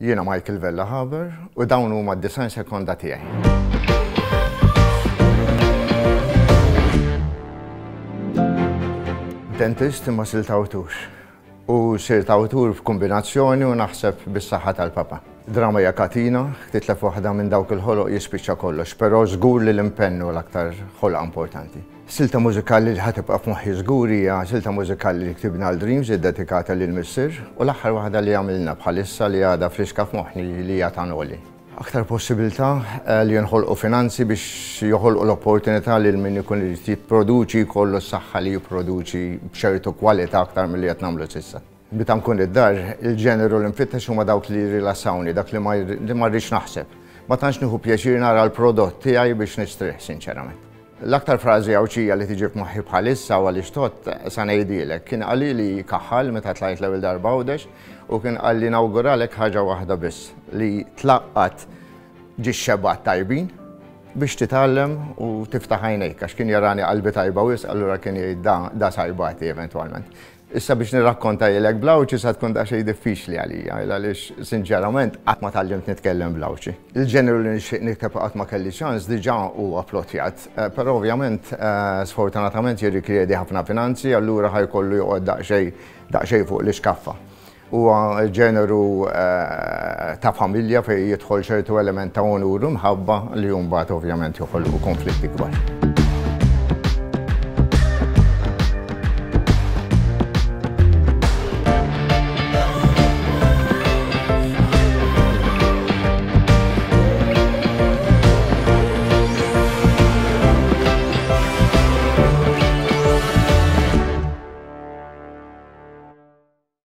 Jiena Michael Vella Haber u dawn huma d-90 sekonda tiegħi. Dentist imma sirt awtur. U sirt awtur f'kombinazzjoni u naħseb bis-saħħa tal-papa. Drama hija katina, titlef waħda minn dawk il-ħoloq jispiċċa kollox, però żgur li l-impenn hu l-aktar ħolqa importanti. Silta mużikali li ħa tibqa' f'moħħi żgur hija silta mużikali li ktibna għal Dreams iddedikata lil missier u l-aħħar waħda li għamilna bħalissa li għadha friska f'moħħni li hija ta' Noli. Aktar possibilità li jinħolqu finanzi biex joħolqu l-opportunità lil min ikun irid jipproduċi jkollu s-saħħa li jipproduċi b'ċertu kwalità aktar milli qed nagħmlu s'issa. Meta nkun id-dar, il-ġeneru li nfittex huma dawk li jirrilassawni, dak li ma li ma rridx naħseb. Ma tantx nieħu pjaċir nara l-prodott tiegħi biex nistrieħ, sinċerament. L-aktar frażi Għawdxija li tiġi f'moħħi bħalissa u għaliex tgħodd, sa ngħidhielek. Kien qalili Kaħħal meta tlajt l-ewwel darba Għawdex u kien qalli nawguralek ħaġa waħda biss, li tlaqqat ġiex xebgħat tajbin biex titgħallem u tiftaħ għajnejk għax kien jarani qalbi tajba wisq allura kien jgħid da da sa jbati eventwalment. Issa biex nirrakkontajlek bl-Għawdxi sa tkun daqsxejn diffiċli għalija, għaliex sinċerament qatt ma tgħallimt nitkellem bl-Għawdxi. Il-ġeneru li nixtieq nikteb u qatt ma kelli ċans diġà huwa plottjat, però ovvjament sfortunatament jirrikjedi ħafna finanzi allura ħa jkollu joqgħod daqsxejn daqsxejn fuq l-ixkaffa. Huwa ġeneru ta' familja fejn jidħol ċertu element ta' onur u mħabba li mbagħad ovvjament joħolqu konflitti kbar.